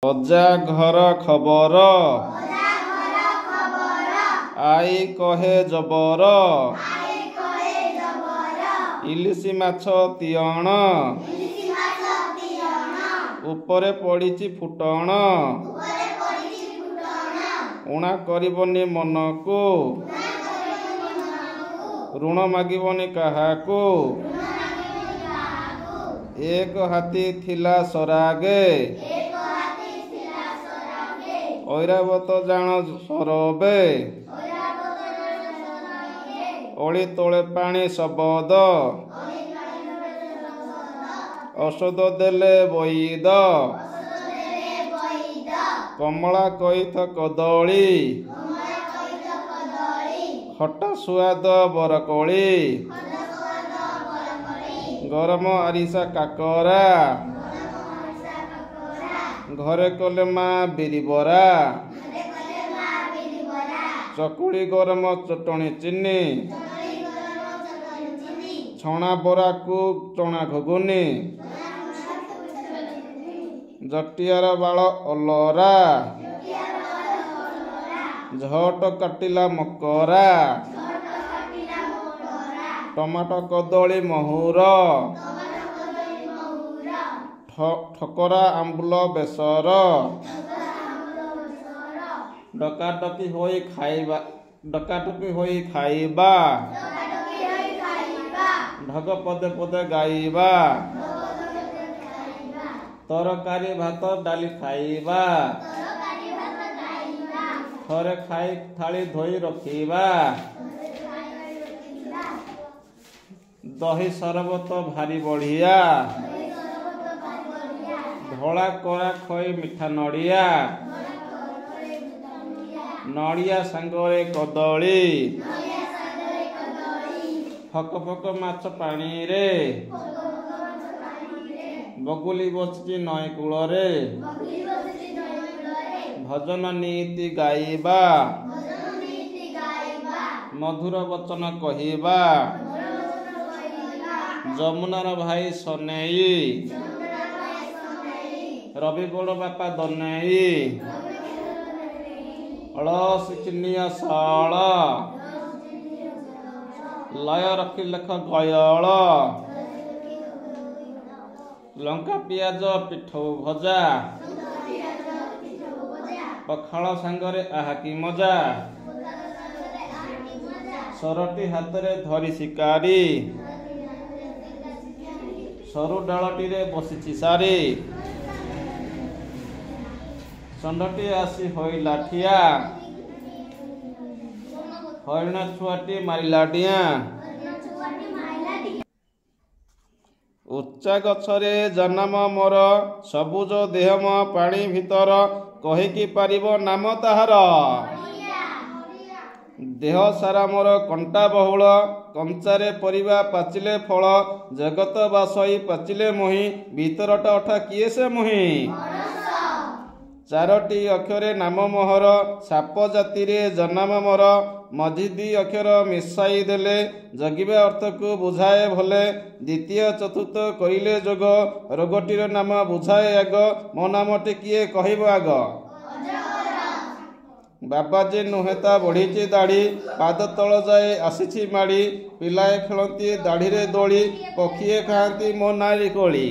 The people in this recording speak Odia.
ଅଜା ଘର ଖବର। ଆଈ କହେ ଜବର। ଇଲିଶି ମାଛ ତିଅଣ। ଉପରେ ପଡ଼ିଛି ଫୁଟଣ। ଊଣା କରିବନି ମନକୁ। ଋଣ ମାଗିବନି କାହାକୁ। ଏକ ହାତୀ ଥିଲା ସରାଗେ। ଐରାବତ ଜାଣ ସରବେ। ଅଳି ତଳେ ପାଣି ଶବଦ। ଔଷଧ ଦେଲେ ବଇଦ। କମଳା କଇଥ କଦଳୀ। ଖଟା ସୁଆଦ ବରକୋଳି। ଗରମ ଆରିସା କାକରା। ଘରେ କଲେ ମା ବିରିବରା। ଚକୁଳି ଗରମ ଚଟଣି ଚିନି। ଛଣା ବରାକୁ ଚଣା ଘୁଗୁନି। ଜଟିଆର ବାଳ ଅଲରା। ଝଟ କାଟିଲା ମକରା। ଟମାଟୋ କଦଳୀ ମହୁର। ଠକରା ଆମ୍ବୁଲ ବେସର। ଡକାଡକି ହୋଇ ଖାଇବା। ଡକାଡକି ହୋଇ ଖାଇବା। ଢଗ ପଦେ ପଦେ ଗାଇବା। ତରକାରୀ ଭାତ ଡାଲି ଖାଇବା। ଥରେ ଖାଇ ଥାଳି ଧୋଇ ରଖିବା। ଦହି ସରବତ ଭାରି ବଢ଼ିଆ। ଧଳା କଳା ଖଇ ମିଠା ନଡ଼ିଆ। ନଡ଼ିଆ ସାଙ୍ଗରେ କଦଳୀ। ଫକ ଫକ ମାଛ ପାଣିରେ। ବଗୁଲି ବସିଛି ନଈ କୂଳରେ। ଭଜନ ନୀତି ଗାଇବା। ମଧୁର ବଚନ କହିବା। ଯମୁନାର ଭାଇ ସନେଇ। ରବି ବଡ଼ ବାପା ଦନେଇ। ଳ ଶିଖିନିଅ ସଳ। ଲୟ ରଖି ଲେଖ ଗୟଳ। ଲଙ୍କା ପିଆଜ ପିଠଉ ଭଜା। ପଖାଳ ସାଙ୍ଗରେ ଆହା କି ମଜା। ସରଟି ହାତରେ ଧରି ଶିକାରୀ। ସରୁ ଡାଳଟିରେ ବସିଛି ସାରି। ଷଣ୍ଢଟି ଆସି ହୋଇଲା ଠିଆ। ହରିଣ ଛୁଆଟି ମାରିଲା ଡିଆଁ। ଉଚ୍ଚା ଗଛରେ ଜନମ ମୋର। ସବୁଜ ଦେହ ମୋ ପାଣି ଭିତର। କହିକି ପାରିବ ନାମ ତାହାର? ଦେହ ସାରା ମୋର କଣ୍ଟା ବହୁଳ। କଞ୍ଚାରେ ପରିବା ପାଚିଲେ ଫଳ। ଜଗତ ବାସଇ ପାଚିଲେ ମୁହିଁ। ଭିତରଟା ଅଠା କିଏ ସେ ମୁହିଁ? ଚାରୋଟି ଅକ୍ଷରେ ନାମ ମୋହର। ସାପ ଜାତିରେ ଜନମ ମୋର। ମଝି ଦି ଅକ୍ଷର ମିଶାଇ ଦେଲେ ଜଗିବା ଅର୍ଥକୁ ବୁଝାଏ ଭଲେ। ଦ୍ୱିତୀୟ ଚତୁର୍ଥ କରିଲେ ଯୋଗ ରୋଗଟିର ନାମ ବୁଝାଏ ଆଗ। ମୋ ନାମଟି କିଏ କହିବ ଆଗ? ବାବାଜୀ ନୁହେଁ ତା ବଢ଼ିଛି ଦାଢ଼ି। ପାଦ ତଳ ଯାଏ ଆସିଛି ମାଡ଼ି। ପିଲାଏ ଖେଳନ୍ତି ଦାଢ଼ିରେ ଦୋଳି। ପକ୍ଷୀଏ ଖାଆନ୍ତି ମୋ ନାରି କୋଳି।